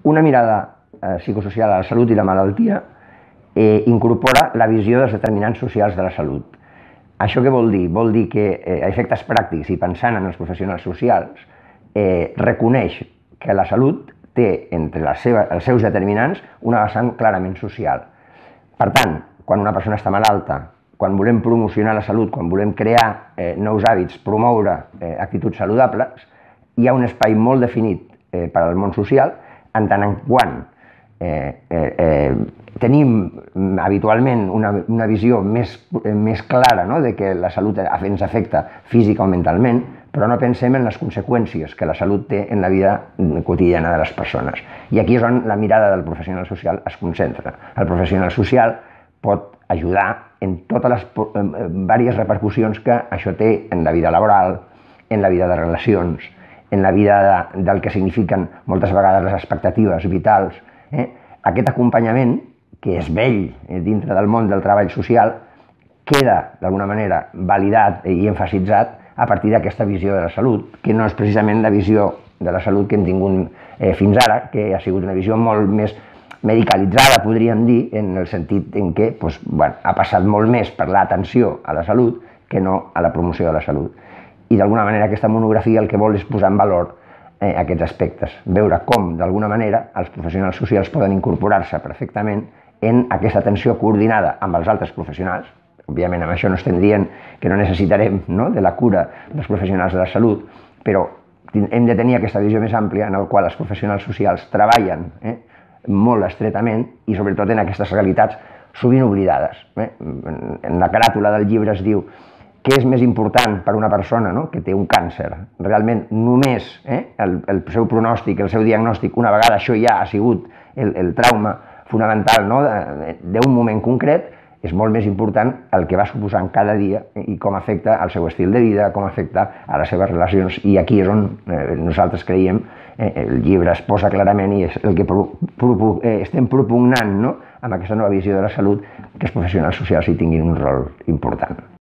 una mirada psicosocial a la salut i la malaltia incorpora la visió dels determinants socials de la salut. Això què vol dir? Vol dir que a efectes pràctics i pensant en els professionals socials reconeix que la salut té entre els seus determinants una vessant clarament social. Per tant, quan una persona està malalta, quan volem promocionar la salut, quan volem crear nous hàbits, promoure actituds saludables, hi ha un espai molt definit per al món social, en tant en quant tenim habitualment una visió més clara de que la salut ens afecta física o mentalment, però no pensem en les conseqüències que la salut té en la vida quotidiana de les persones. I aquí és on la mirada del professional social es concentra. El professional social pot ajudar en totes les diverses repercussions que això té en la vida laboral, en la vida de relacions, en la vida del que signifiquen moltes vegades les expectatives vitals. Aquest acompanyament, que és vell dintre del món del treball social, queda d'alguna manera validat i emfasitzat a partir d'aquesta visió de la salut, que no és precisament la visió de la salut que hem tingut fins ara, que ha sigut una visió molt més medicalitzada, podríem dir, en el sentit en què ha passat molt més per l'atenció a la salut que no a la promoció de la salut. I d'alguna manera aquesta monografia el que vol és posar en valor aquests aspectes, veure com d'alguna manera els professionals socials poden incorporar-se perfectament en aquesta atenció coordinada amb els altres professionals. Òbviament, amb això no estem dient que no necessitarem de la cura dels professionals de la salut, però hem de tenir aquesta visió més àmplia en la qual els professionals socials treballen molt estretament i sobretot en aquestes realitats sovint oblidades. En la caràtula del llibre es diu què és més important per a una persona que té un càncer? Realment només el seu pronòstic, el seu diagnòstic, una vegada això ja ha sigut el trauma fonamental d'un moment concret, és molt més important el que va suposant cada dia i com afecta al seu estil de vida, com afecta a les seves relacions. I aquí és on nosaltres creiem, el llibre es posa clarament i és el que estem propugnant amb aquesta nova visió de la salut, que els professionals socials hi tinguin un rol important.